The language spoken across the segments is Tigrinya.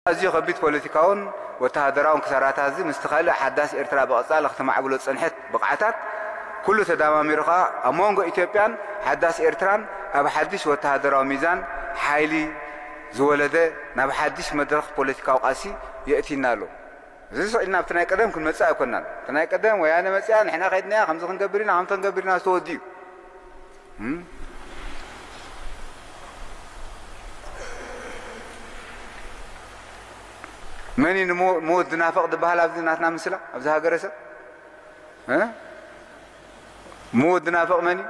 ኣዝዩ ከቢድ ፖለቲካውን ወተሃደራውን ክሳራታት እዚ ምስቲ ካልእ ሓዳስ ኤርትራ ብቐጻሊ ክትማዕብሎ ዝጸንሐት ብቕዓታት ኩሉ ተዳማሚሩ ከኣ ኣብ መንጎ ኢትዮጵያን ሓዳስ ኤርትራን ኣብ ሓድሽ ወተሃደራዊ ሚዛን ሓይሊ ዝወለደ ናብ ሓድሽ መድረኽ ፖለቲካዊ ቃልሲ የእቲና ኣሎ። እዚ ስቕ ኢልና ኣብቲ ናይ ቀደም ክንመጽእ ኣይኮናን። እቲ ናይ ቀደም ወያነ መጽያ ንሕና ከይድናያ ከምዚ ክንገብር ኢና ከምዚ ክንገብር ኢና ዝተወድዩ መን እዩ ንሞ- ሞት ዝናፍቕ ዝበሃል ኣብዚ ናትና ምስላ ኣብዚ ሃገረሰብ እ? ሞት ዝናፍቕ መን እዩ?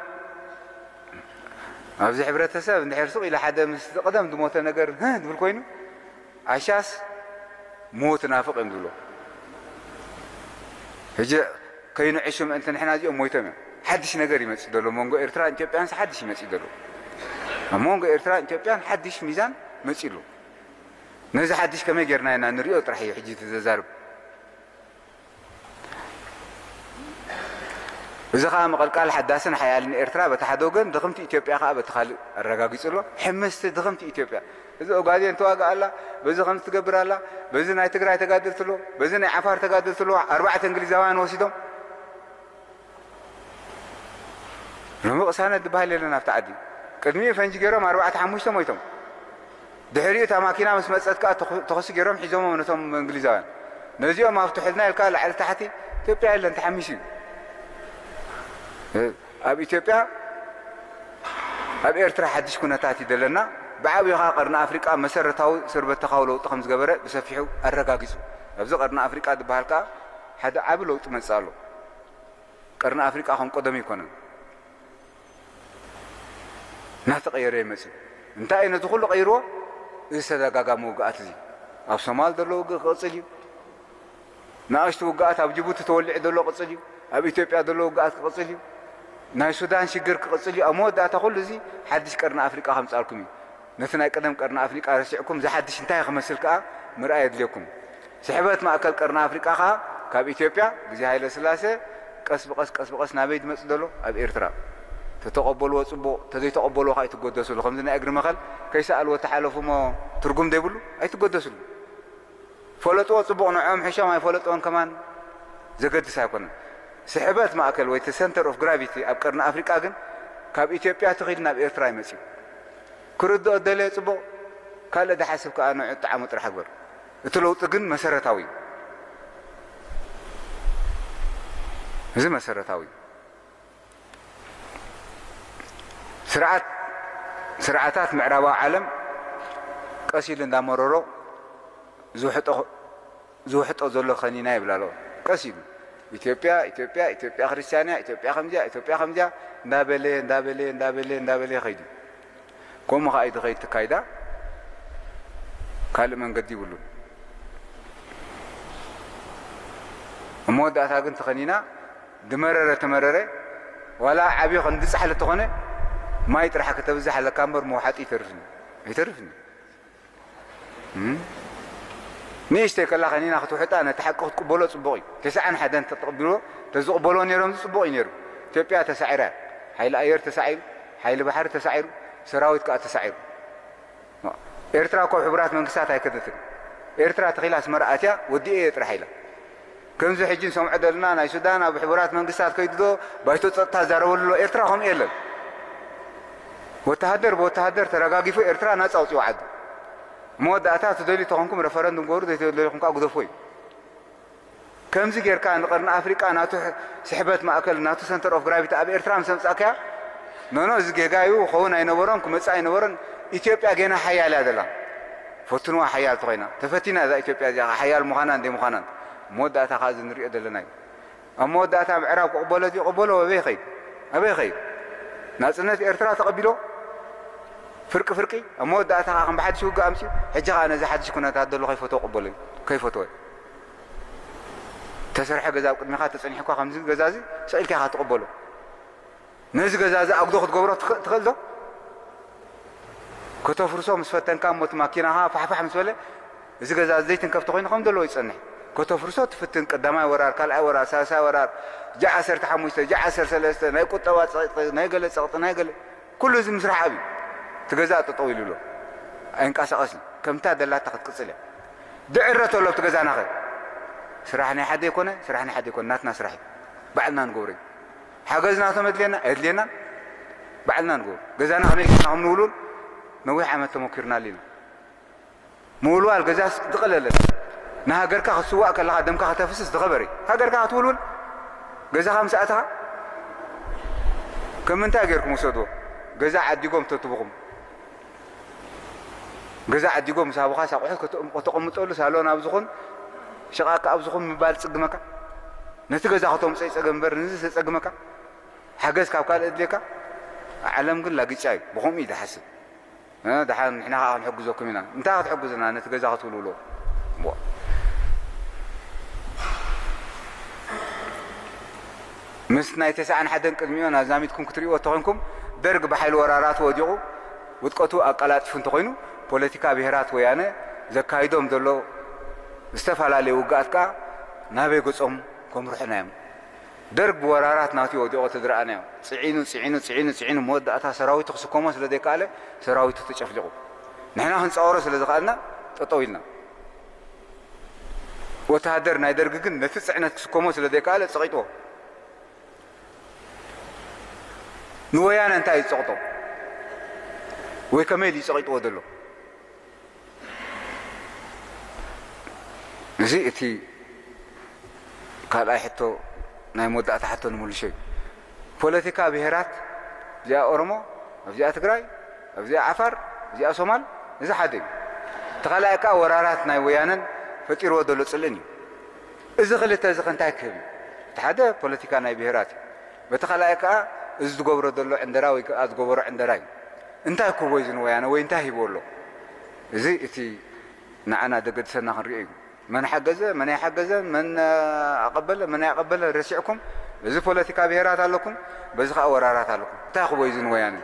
ኣብዚ ሕብረተሰብ እንድሕር ሱቕ ኢለ ሓደ ምስ ዝቕደም ዝሞተ ነገር ህ ዝብል ኮይኑ ዓሻስ ሞት ናፍቕ እዮም ዝብሎ። ሕጂ ከይንዕሹ ምእንቲ ንሕና እዚኦም ሞይቶም እዮም። ሓድሽ ነገር ይመጽእ ዘሎ መንጎ ኤርትራን ኢትዮጵያን ሓድሽ ይመጽእ ዘሎ ኣብ መንጎ ኤርትራን ኢትዮጵያን ሓድሽ ሚዛን መጺሉ። ነዚ ሓድሽ ከመይ ጌርና ኢና ንሪኦ ጥራሕ እዩ ሕጂ እቲ ዘዛርብ። እዚ ኸኣ ምቕልቃል ሓዳስን ሓያልን ኤርትራ በቲ ሓደ ወገን ድኽምቲ ኢትዮጵያ ኸኣ በቲ ካልእ ኣረጋጊጹ ኣሎ። ሕምስቲ ድኽምቲ ኢትዮጵያ እዚ ኦጋዴን ተዋግእ ኣላ፣ በዚ ከምዚ ትገብር ኣላ፣ በዚ ናይ ትግራይ ተጋደልቲ ኣሎ፣ በዚ ናይ ዓፋር ተጋደልቲ ኣሎ፣ ኣርባዕተ እንግሊዛውያን ወሲዶም ሎሚ ቅሳነት ዝበሃል የለን ኣብቲ ዓዲ። ቅድሚኡ ፈንጂ ገይሮም ኣርባዕተ ሓሙሽተ ሞይቶም። ድሕሪኡ እታ ማኪና ምስ መጸት ከኣ ተኹ- ተኹሲ ገይሮም ሒዞሞም ነቶም እንግሊዛውያን። ነዚኦም ኣፍትሑልና ኢልካ ላዕሊ ታሕቲ ኢትዮጵያ የለን ተሓሚሱ እዩ። እ፣ ኣብ ኢትዮጵያ ኣብ ኤርትራ ሓድሽ ኩነታት እዩ ዘለና። ብዓብዩ ከኣ ቀርኒ ኣፍሪቃ መሰረታዊ ስርበተኻዊ ለውጢ ከም ዝገበረ ብሰፊሑ ኣረጋጊጹ። ኣብዚ ቀርኒ ኣፍሪቃ ዝበሃል ከኣ ሓደ ዓቢ ለውጢ መጽእ ኣሎ። ቀርኒ ኣፍሪቃ ከም ቀደሙ ኣይኮነን። እናተቐየረ ይመጽእ። እንታይ እዩ ነዚ ኩሉ ቀይርዎ? እዚ ተደጋጋሚ ውግኣት እዚ ኣብ ሶማል ዘሎ ውግእ ክቕጽል እዩ። ንኣሽቱ ውግኣት ኣብ ጅቡቲ ተወሊዑ ዘሎ ቅጽል እዩ። ኣብ ኢትዮጵያ ዘሎ ውግኣት ክቕጽል እዩ። ናይ ሱዳን ሽግር ክቕጽል እዩ። ኣብ መወዳእታ ኩሉ እዚ ሓድሽ ቀርኒ ኣፍሪቃ ከምጻልኩም እዩ። ነቲ ናይ ቀደም ቀርኒ ኣፍሪቃ ረሲዕኩም ዝሓድሽ እንታይ ክመስል ከኣ ምርኣይ የድልየኩም። ስሕበት ማእከል ቀርኒ ኣፍሪቃ ከኣ ካብ ኢትዮጵያ ግዜ ሃይለ ስላሴ ቀስ ብቐስ ቀስ ብቐስ ናበይ ዝመጽእ ዘሎ ኣብ ኤርትራ ተተቐበልዎ ጽቡቕ ተዘይተቐበልዎ ከኣ ኣይትጎደስሉ ከምዚ ናይ እግሪ መኸል ከይሰኣልዎ ተሓለፉ እሞ ትርጉም ዘይብሉ ኣይትጎደስሉ። ፈለጥዎ ጽቡቕ ንዕኦም ሕሾም ኣይፈለጥዎን ከማን ዘገድስ ኣይኮነን። ስሕበት ማእከል ወይ center of gravity ኣብ ቀርኒ ኣፍሪቃ ግን ካብ ኢትዮጵያ ትኺድ ናብ ኤርትራ ይመጽእ። ክርድኦ ደለየ ጽቡቕ ካልእ ዝሓስብ ከኣ ንዑ ጣዕሙ ጥራሕ ግበር። እቲ ለውጢ ግን መሰረታዊ እዩ። እዚ መሰረታዊ እዩ። ስርዓት ስርዓታት ምዕራባዊ ዓለም ቀስ ኢሉ እንዳመረሮ ዝውሕጦ ዝውሕጦ ዘሎ ከኒና ይብላ ኣለዎ። ቀስ ኢሉ ኢትዮጵያ ኢትዮጵያ ኢትዮጵያ ክርስቲያንያ ኢትዮጵያ ከምዚያ ኢትዮጵያ ከምዚያ እንዳበለ እንዳበለ እንዳበለ እንዳበለ ይኸይድ እዩ። ከምኡ ከዓ እዩ ዝኸይድ ትካይዳ ካልእ መንገዲ ይብሉን። ኣብ መወዳእታ ግን ተኸኒና ድመረረ ተመረረ ዋላ ዓብዪ ክንዲ ፃሕሊ ተኾነ ማይ ጥራሕ ከተብዝሕ ኣለካ እምበር መውሓጢ ይተርፍኒ ኣይተርፍኒ። ንእሽተይ ከላ ከኒና ክትውሕጣ ነቲ ሓቂ ክትቅበሎ ፅቡቕ እዩ። ተስዓን ሓደን ተተቕቢሎ ተዝቕበሎ ነይሮም ፅቡቕ እዩ ነይሩ። ኢትዮጵያ ተሳዒራ ሓይሊ ኣየር ተሳዒሩ ሓይሊ ባሕሪ ተሳዒሩ ሰራዊት ከዓ ተሳዒሩ። ኤርትራ እኮ ኣብ ሕቡራት መንግስታት ኣይከደትን። ኤርትራ ተኺላ ኣስመራ ኣትያ ወዲኤ እየ ጥራሕ ኢላ። ከምዚ ሕጂ ንሰምዖ ዘለና ናይ ሱዳን ኣብ ሕቡራት መንግስታት ከይዱ ዶ ባይቶ ፀጥታ ዛረበሉ ኣሎ። ኤርትራ ከምኡ የለን። ወተሃደር ብወተሃደር ተረጋጊፉ ኤርትራ ናፃ ኣውፅኡ ዓዱ። መወዳእታ ትደልዩ ተኾንኩም ረፈረንዱም ገበሩ ዘይተደለኹም ከዓ ግደፎ እዩ። ከምዚ ጌርካ ንቐርኒ ኣፍሪቃ ናቱ ስሕበት ማእከል ናቱ center of gravity ኣብ ኤርትራ ምስ ኣምጻእካያ ኖኖ እዚ ጌጋ እዩ ክኸውን ኣይነበሮን ክመጽእ ኣይነበሮን። ኢትዮጵያ ጌና ሓያል እያ ዘላ። ፈትንዋ ሓያል ተኾይና ተፈቲና እዛ ኢትዮጵያ እዚኣ ሓያል ምዃናን ዘይምዃናን መወዳእታ ከዓ እዚ ንሪኦ ዘለና እዩ። ኣብ መወዳእታ ምዕራብ ክቕበሎ ዝቕበሎ ኣበይ ኸይድ ኣበይ ኸይድ ናጽነት ኤርትራ ተቐቢሎ ፍርቂ ፍርቂ ኣብ መወዳእታ ከዓ ከም ብሓድሽ ውግእ ኣምፅኡ ሕጂ ከዓ ነዚ ሓድሽ ኩነታት ዘሎ ከይፈትዎ ቅበሎ እዩ ከይፈትዎ ተሰርሐ ገዛ ኣብ ቅድሚኻ ተፀኒሕኳ ከምዚ ገዛ እዚ ስቕ ኢልካ ኢኻ ትቕበሎ። ነዚ ገዛ እዚ ኣጉዶ ክትገብሮ ትኽእል ዶ? ከተፍርሶ ምስ ፈተንካ እሞ እቲ ማኪናኻ ፋሕፋሕ ምስ በለ እዚ ገዛ እዚ ዘይትንከፍ ተኾይኑ ከም ዘለዎ ይፀንሕ። ከተፍርሶ ትፍትን ቀዳማይ ወራር፣ ካልኣይ ወራር፣ ሳልሳይ ወራር፣ ጃዕ ዓሰርተ ሓሙሽተ፣ ጃዕ ዓሰርተ ሰለስተ፣ ናይ ቁጠባ ፀቕጢ፣ ናይ ገለ ፀቕጢ፣ ናይ ገለ ኩሉ እዚ ምስራሕ ኣብዩ። እቲ ገዛ ጠጠው ኢሉ ኣሎ። ኣይንቀሳቐስን። ከምታ ደላታ ክትቅፅል እያ። ድዕረ ተሎ ኣብቲ ገዛናኸ? ስራሕ ናይ ሓደ ይኮነ፣ ስራሕ ናይ ሓደ ይኮነ፣ ናትና ስራሕ እዩ። ባዕልና ንገብሮ እዩ። ሓገዝ ናቶም የድልየና፣ ኣየድልየናን፣ ባዕልና ንገብሮ። ገዛና ከመይ ጌርና ከም ንውልውል ነዊሕ ዓመት ተመኪርናሉ ኢና። ምውልዋል ገዛስ ዝቐለለ። ንሃገርካ ክትስዋእ ከለኻ ደምካ ከተፍስስ ዝኸበረ እዩ። ሃገርካ ክትውልውል ገዛኻ ምስ ኣተኻ ከም ምንታይ ጌርኩም ውሰድዎ? ገዛ ዓዲጎም ተትብኹም። ገዛ ዓዲጎም ምስ ሃቡኻ ሳቑሑ ከተቐምጠሉ ሳሎን ኣብ ዝኹን ሽቓካ ኣብ ዝኹን ምባል ጽግመካ። ነቲ ገዛ ከተምጽኦ ይጸገም እምበር ንዚ ተጸግመካ። ሓገዝ ካብ ካልእ እድልየካ። ዓለም ግን ላግጫ እዩ። ብኸምኡ እዩ ዝሓስብ። እ፣ ደሓን ንሕና ከኣ ክንሕግዘኩም ኢና። እንታይ ክትሕግዙና? ነቲ ገዛ ክትውልውሎ። ዋ። ምስ ናይ ተስዓን ሓደን ቅድሚኡ ኣዛሚድኩም ክትርእይዎ እንተኾይንኩም፣ ደርግ ብሓይሊ ወራራቱ ወዲቑ ውድቀቱ ኣቀላጢፉ እንተኾይኑ፣ ፖለቲካ ብሄራት ወያነ ዘካይዶም ዘሎ ዝተፈላለዩ ውግኣት ከኣ ናበይ ገጾም ከምርሑና እዮም። ደርግ ብወራራት ናቱ ወዲቑ ተዝረኣናዮ፣ ጽዒኑ፣ ጽዒኑ፣ ጽዒኑ፣ ጽዒኑ፣ መወዳእታ ሰራዊቱ ክስከሞ ስለ ዘይከኣለ፣ ሰራዊቱ ተጨፍሊቑ። ንሕና ክንጻወሮ ስለ ዝኸኣልና፣ ጠጠው ኢልና። ወተሃደር ናይ ደርግ ግን ነቲ ጽዕነት ክስከሞ ስለ ዘይከኣለ፣ ጸቒጥዎ። ንወያነ እንታይ እዩ ዝጸቕጦ? ወይ ከመይ ድዩ ጸቒጥዎ ዘሎ? እዚ እቲ ካልኣይ ሕቶ፣ ናይ መወዳእታ ሕቶ ንምልሾ እዩ። ፖለቲካ ብሄራት፣ እዚኣ ኦሮሞ፣ ኣብዚኣ ትግራይ፣ ኣብዚኣ ዓፋር፣ እዚኣ ሶማል፣ እዚ ሓደ እዩ። እቲ ካልኣይ ከኣ ወራራት ናይ ወያነን ፈጢርዎ ዘሎ ጽልእን እዩ። እዚ ክልተ እዚ ከ እንታይ ክህብ እዩ? እቲ ሓደ ፖለቲካ ናይ ብሄራት እዩ። በቲ ካልኣይ ከኣ እዚ ዝገብሮ ዘሎ ዕንደራ ወይ ከኣ ዝገበሮ ዕንደራ እዩ። እንታይ ክህቦ እዩ እዚ ንወያነ ወይ እንታይ ሂብዎ ኣሎ? እዚ እቲ ንዓና ዘገድሰና ክንሪኦ እዩ። መን ሓገዘ፣ መን ኣይሓገዘን፣ መን ኣቐበለ፣ መን ኣይኣቐበለን ረሲዕኩም፣ በዚ ፖለቲካ ብሄራት ኣለኩም፣ በዚ ከኣ ወራራት ኣለኩም። እንታይ ክህቦ እዩ እዚ ንወያነ?